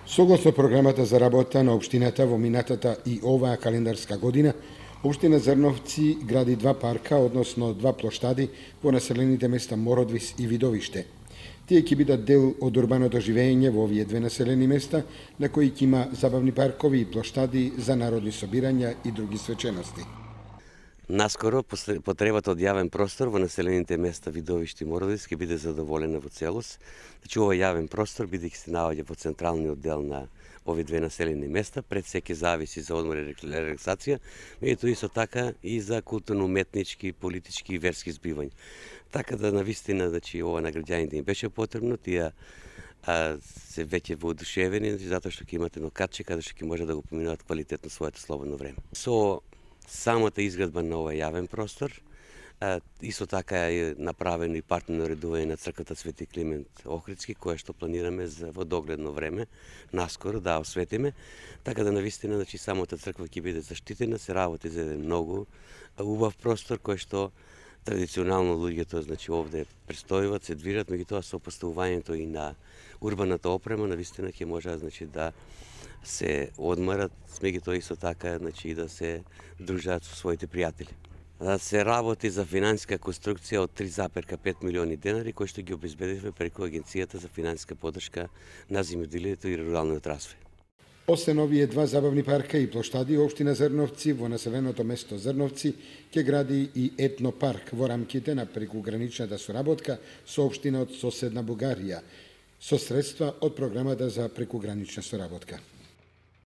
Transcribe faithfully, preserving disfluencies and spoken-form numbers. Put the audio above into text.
Согласно програмата за работа на општината во минатата и оваа календарска година, општина Зрновци гради два парка, односно два плоштади во населените места Мородвис и Видовиште. Тие ќе бидат дел од урбаното живење во овие две населени места, на кои ќе има забавни паркови и плоштади за народни собирања и други свечености. Наскоро потребата од јавен простор во населените места Видовиште и Мородвис ќе биде задоволена во целост. Значи, овој јавен простор, бидејќи се наоѓа во централниот дел на овие две населени места, пред се ќе зависи за одмор и релаксација, меѓутоа исто така и за културно-уметнички, политички и верски збивања. Така да навистина, значи, ова на граѓаните им беше потребно, тие а, се веќе воодушевени, значи, затоа што ќе имате едно катче каде што ќе може да го поминуваат квалитетно своето слободно време. Со самата изградба на овој јавен простор, а, исто така е направено и партнерно редување на црквата Свети Климент Охридски, кое што планираме за во догледно време, наскоро да осветиме, така да навистина, значи, самата црква ќе биде заштитена, се работи за еден многу убав простор кој што традиционално луѓето, значи, овде престојуват, се движат, меѓутоа со поставувањето и на урбаната опрема, навистина ќе може, значи, да се одмарат, меѓутоа исто така, значи, и да се дружат со своите пријатели. Да се работи за финансиска конструкција од три запир пет милиони денари, кои што ги обезбедивме преку Агенцијата за финансиска поддршка на земјоделието и руралниот развој. Освен овие два забавни парка и плоштади, општина Зрновци во населеното место Зрновци ќе гради и етнопарк во рамките на прекуграничната соработка со општина од соседна Бугарија, со средства од програмата за прекугранична соработка.